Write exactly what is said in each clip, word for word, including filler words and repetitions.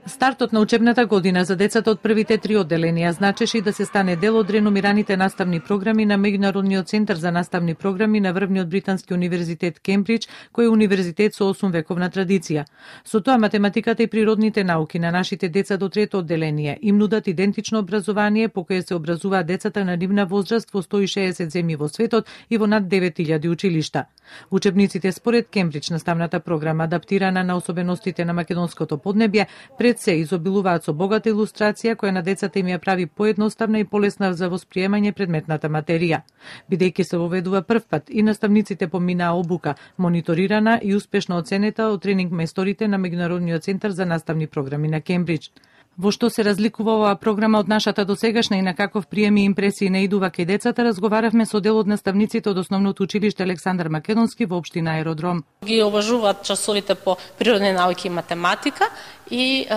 Стартот на учебната година за децата од првите три одделенија значеше и да се стане дел од реномираните наставни програми на Меѓународниот центар за наставни програми на врвниот британски универзитет Кембридж, кој е универзитет со осум вековна традиција. Со тоа математиката и природните науки на нашите деца до трето одделение им нудат идентично образование по кое се образуваат децата на нивна возраст во сто и шеесет земји во светот и во над девет илјади училишта. Учебниците според Кембридж наставната програма, адаптирана на особеностите на македонското поднебје, пред се изобилуваат со богата илустрација која на децата им ја прави поедноставна и полесна за восприемање предметната материја. Бидејќи се воведува првпат и наставниците поминаа обука, мониторирана и успешно оценета од тренинг мајсторите на Меѓународниот центар за наставни програми на Кембридж. Во што се разликува оваа програма од нашата досегашна и на каков прием и импресии наидува кај децата, разговаравме со дел од наставниците од основното училиште Александар Македонски во општина Аеродром. Ги обожуваат часовите по природни науки и математика и е,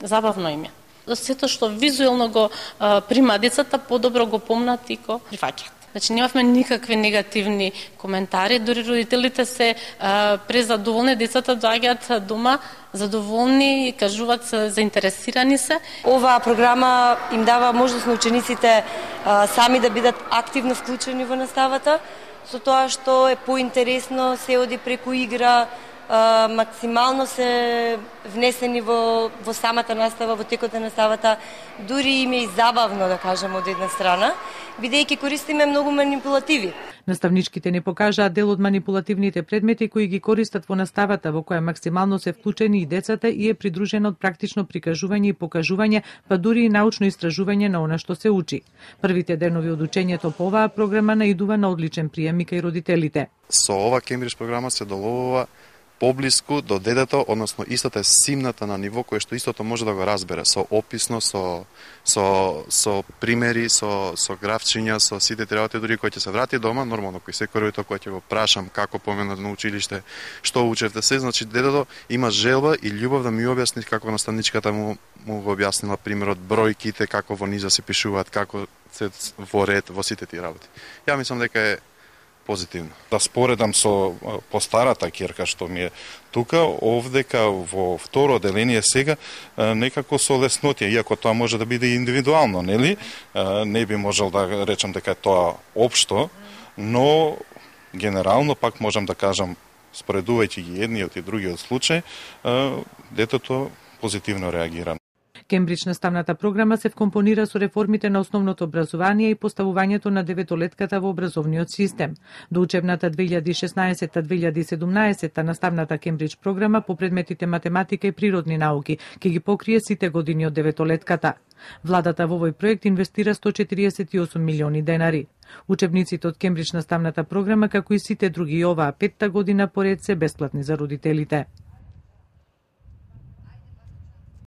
забавно им е. Сето што визуелно го е, прима децата, подобро го помнат и го прифаќаат. Значи, немавме никакви негативни коментари, дури родителите се а, презадоволни, децата доаѓаат дома задоволни, кажуваат се, заинтересирани се. Оваа програма им дава можност на учениците а, сами да бидат активно вклучени во наставата, со тоа што е поинтересно, се оди преку игра, а, максимално се внесени во, во самата настава, во текот на наставата, дури им е и забавно, да кажем, од една страна, бидејќи користиме многу манипулативи. Наставничките не покажаат дел од манипулативните предмети кои ги користат во наставата, во која максимално се вклучени и децата и е придружена од практично прикажување и покажување, па дури и научно истражување на она што се учи. Првите денови од учењето по оваа програма наидува на одличен прием и кај родителите. Со ова Кембридж програма се доловува поблиску до детето, односно истата е симната на ниво кое што истото може да го разбере со описно, со со со примери, со со графчиња, со сите работи, дури кој ќе се врати дома, нормално кој секој родител кој ќе го прашам како поменат на училиште, што учевте се, значи детето има желба и љубов да ми објасни како наставничката му му го објаснила примерот бројките, како во низа се пишуваат, како се во ред во сите тие работи. Ја мислам дека е позитивно. Да споредам со постарата ќерка што ми е тука, овдека во второ одделение сега некако со леснотија, иако тоа може да биде индивидуално, нели? Не би можел да речам дека е тоа општо, но генерално пак можам да кажам, споредувајќи ги едниот и другиот случај, детето позитивно реагира. Кембридж наставната програма се вкомпонира со реформите на основното образование и поставувањето на деветолетката во образовниот систем. До учебната две илјади и шеснаесетта две илјади и седумнаесетта наставната Кембридж програма по предметите математика и природни науки ќе ги покрие сите години од деветолетката. Владата во овој проект инвестира сто четириесет и осум милиони денари. Учебниците од Кембридж наставната програма, како и сите други оваа петта година поред, се бесплатни за родителите.